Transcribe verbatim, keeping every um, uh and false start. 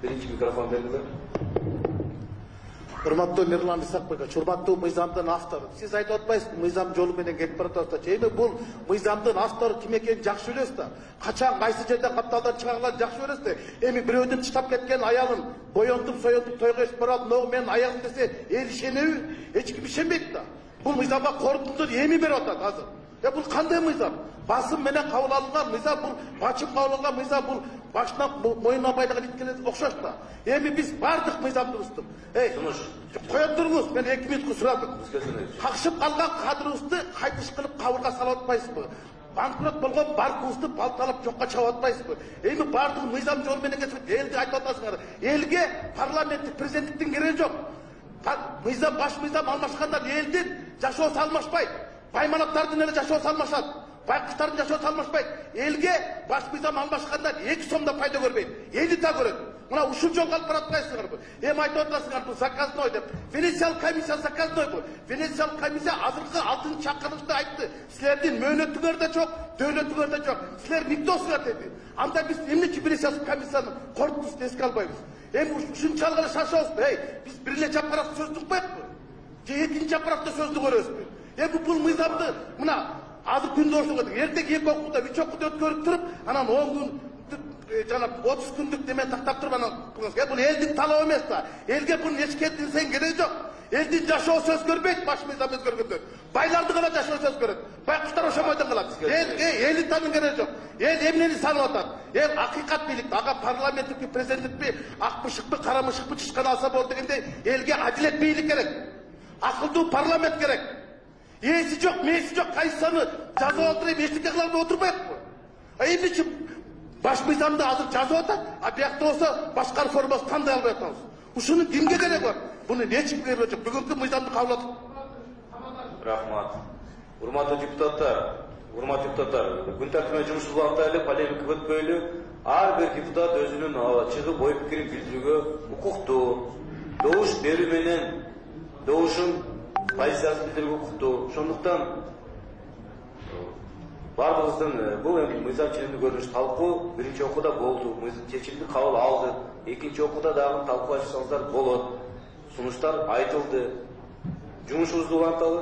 Биринчи микрофон берилет. Урматтуу Мирлан Исакбекович, урматтуу мыйзамдын автору. Сиз айтып атпайсызбы, мыйзам жолу менен кетип баратат. Эми бул мыйзамдын автору ким экенин жакшы билесиз да. Качан кайсы жерде капталдан чыгарганын жакшы билесиз да. Эми бирөөдүн чыдап кеткен аялын боёнтуп, соёнтуп тойго ишип барат, могу менин аялым десе, эл ишенеби? Эч ким ишенбейт да. Бул мыйзамга корутунду эми берип атат азыр. Э бул кандай мыйзам? Басым менен кабыл алынган мыйзам, бул бачым кабыл алган мыйзам, бул башынан моюнуна байлыгын иткеле окшош да. Эми биз бардык мыйзамды буздук. Эй, кое туруңуз, мен эки мүнөткө сурадым. Какшып калган кадрыбызды кайтыш кылып кабырга салып атпайсызбы? Банкрот болгон банкыбызды балталап жокко чыгып атпайсызбы? Эми бардык мыйзам жолу менен кетип, элди айтып атасыңар. Элге парламенттик президенттиктин кереги жок. Мыйзам, баш мыйзам алмашкандан элдин жашоосу алмашпайт. Байманаттардын эле жашоосу алмашат. Байкуштардын жашоосу алмашпайт. Элге баш мыйзам алмашкандан эки сом да пайда көрбөйт. Эли да көрөт. Мына ушул жолго алып баратпайсыңарбы? Эми айтып атасыңар, бул заказной деп. Венециялык комиссия заказной бул. Венециялык комиссия азыркы алтынчы чакырылышта айтты. Силердин мөөнөтүңөр да жок, дөөлөтүңөр да жок. Силер никтосуңар деди. Анда биз эмнечи Венециялык комиссиянын корутундусун эске албайбыз? Эми ушунчалык эле шашабызбы? Эй, биз бир эле жапырак сөздү укпайбызбы? Же экинчи жапыракта сөздү көрөбүзбү? Эми бул мыйзамды мына азыр күндө ошого эртең эки окууда, үч окууда өткөрүп туруп, анан он күн жана отуз күндүк неме тактап туруп анан кылыңыз. Бул элдин талабы эмес да. Элге бунун эч кетинсең кереги жок. Элдин жашоосу өзгөрбөйт, баш мыйзам өзгөргөндө. Байларды гана жашоосу өзгөрөт. Байкуштар ошомойдон калат. Элге элин танын кереги жок. Эл эмнени санап атат? Эл акыйкат бийлик, ага парламенттикпи, президенттикпи, ак мышыкпы, кара мышыкпы чычкан алса болду дегендей, элге адилет бийлик керек. Акылдуу парламент керек. Эси жок, меси жок, кайсаны жазып отуруп, эчтеке кыла албай отурбайбы? А эмнечи баш мыйзамды азыр жазып атат, а биякта болсо башка реформасы кандай албай атабыз? Ушунун кимге кереги бар? Буну эч кимге кереги жок. Бүгүнкү мыйзамды кабыл алып. Рахмат. Урматтуу депутаттар, урматтуу депутаттар, күн тартибинде жумушубуз убакта эле полемика өтпөйлү. Ар бир депутат өзүнүн чыгып ой пикирин билдирүүгө укуктуу. Добуш берүү менен добушун позициясын билдирүүгө укуктуу. Ошондуктан бардыгыбыздын бул эми мыйзам ченемдүү көрүнүш талкуу биринчи окууда болду. Чечимди кабыл алды. Экинчи окууда дагы талкуулашсаңыздар болот. Сунуштар айтылды. Жумушубузду уланталы.